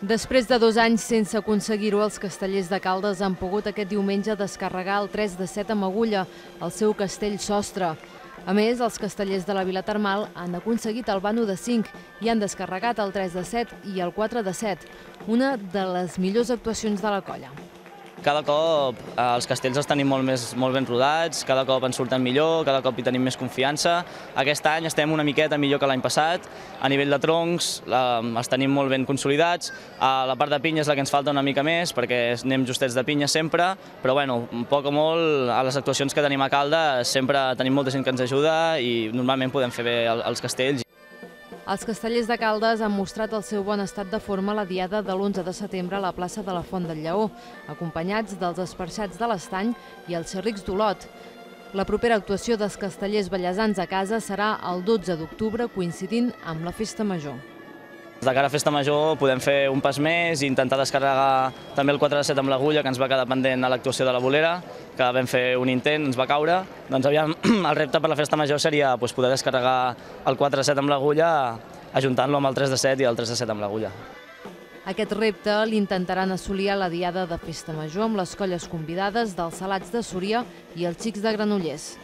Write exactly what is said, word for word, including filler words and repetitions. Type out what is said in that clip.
Després de dos anys sense aconseguir-ho, els castellers de Caldes han pogut aquest diumenge descarregar el tres de set amb Agulla, el seu castell sostre. A més, els castellers de la Vila Termal han aconseguit el vano de cinc i han descarregat el tres de set i el quatre de set, una de les millors actuacions de la colla. Cada cop els castells els tenim molt, més, molt ben rodats, cada cop ens surten millor, cada cop hi tenim més confiança. Aquest any estem una miqueta millor que l'any passat. A nivell de troncs els tenim molt ben consolidats. A la part de pinya és la que ens falta una mica més, perquè anem justets de pinya sempre, però bueno, poc o molt a les actuacions que tenim a Caldes sempre tenim molta gent que ens ajuda i normalment podem fer bé els castells. Els castellers de Caldes han mostrat el seu bon estat de forma a la diada de l'onze de setembre a la plaça de la Font del Lleó, acompanyats dels esparxats de l'Estany i els xerrics d'Olot. La propera actuació dels castellers bellesans a casa serà el dotze d'octubre, coincidint amb la Festa Major. De cara a Festa Major podem fer un pas més i intentar descarregar també el quatre de set amb l'Agulla, que ens va quedar pendent a l'actuació de la Bolera, que vam fer un intent, ens va caure. Doncs aviam, el repte per la Festa Major seria poder descarregar el quatre de set amb l'Agulla ajuntant-lo amb el tres de set i el tres de set amb l'Agulla. Aquest repte l'intentaran assolir a la diada de Festa Major amb les colles convidades dels Salats de Súria i els Xics de Granollers.